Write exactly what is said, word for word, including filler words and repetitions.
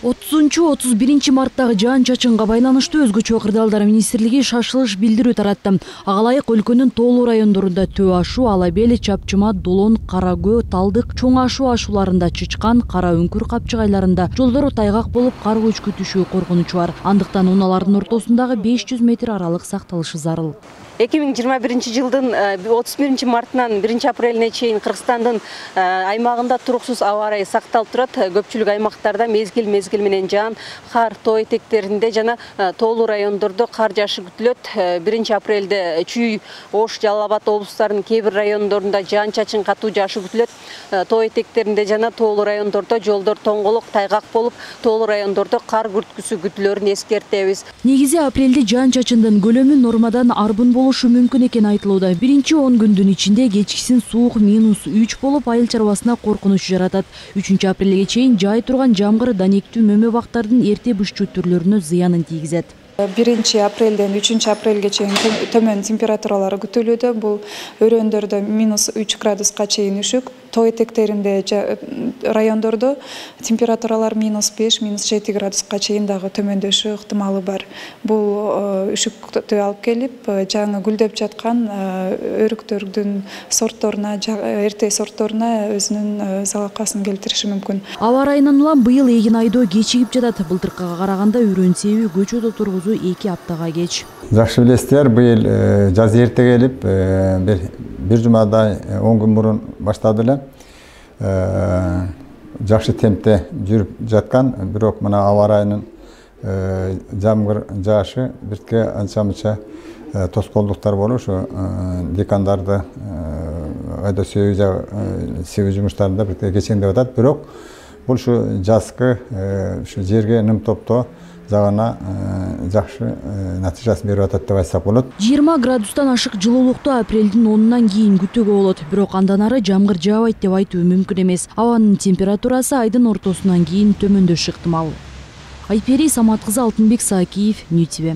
отузунчу отуз биринчи марттагы жаан-чачынга байланыштуу өзгөчө кырдаалдар министрлиги шашылыш билдирүү таратты. Ага ылайык өлкөнүн тоолуу райондорунда Төө ашуу, Ала бел, Чапчыма, Долон, Кара Көө, Талдык, Чоң ашуу ашууларында Чычкан, Кара Үңкүр капчыгайларында жолдор тайгак болуп кар көчкү түшүү коркунучу бар. Андыктан унаалардын ортосундагы беш жүз метр аралык сакталышы зарыл. эки миң жыйырма биринчи жылдын отуз биринчи мартынан биринчи апрелине чейин Кыргызстандын аймагында туруксуз аба ырайы сакталып турат. Көпчүлүк аймактарда мезгил мезгил менен жаан, кар тоо этектеринде жана тоолуу райондордо кар жаашы күтүлөт. биринчи апрелде Чүй, Ош, Жалал Абад облустарынын кээ бир райондорунда жаан-чачын катуу жаашы күтүлөт. Тоо этектеринде жана тоолуу райондордо жолдор тоңголок, тайгак болуп, тоолуу райондордо кар күрткүсү күтүлөрүн эскертебиз. Негизи апрелде жаан-чачындын көлөмү нормадан арбын болушу мүмкүн экен айтылууда. Биринчи он күндүн ичинде кечкисин суук минус үч болуп, айыл чарбасына коркунуч жаратат. үчүнчү апрелге чейин жай турган жамгыр данектүү мөмө бактардын эрте бышчу түрлөрүнө зыянын тийгизет. биринчи апрелден үчүнчү апрелге чейин төмөн температуралар күтүлүүдө. Бул өрөөндөрдө минус үч градуска чейин үшүк, тоо этектеринде райондордо температуралар минус беш, минус жети градуска чейин дагы төмөндөшү ыктымалы бар. Бул үшүктү алып келип, жаңы гүлдөп жаткан өрүктөрдүн сортторуна, эрте сортторуна өзүнүн залакасын келтириши мүмкүн. Аба ырайынан улам быйыл эгин айдоо кечигип жатат. Былтыркыга караганда үрөн себи көчөт отургузуу эки аптага кеч. Жакшы билесиздер, быйыл жаз эрте келип, бир бир жумадай он күн мурун баштады эле. Жакшы темпте жүрүп жаткан, бирок мына аба ырайынын жамгыр жаашы биртке анча-мынча тоскоолдуктар болуп, ушу декандарды айдоо себүү жумуштарында биртке кечеңдеп атат. Бирок бул ушу жазкы ушу жерге ним топтоо жагына жакшы натыйжасын берип атат деп айтсак болот. жыйырма градустан ашык жылуулукту апрелдин онунан кийин күтүүгө болот. Бирок андан ары жамгыр жаабайт деп айтуу мүмкүн эмес. Абанын температурасы айдын ортосунан кийин төмөндөшү ыктымал. Айпери Самат кызы, Алтынбек Саакиев, Нью Ти Ви.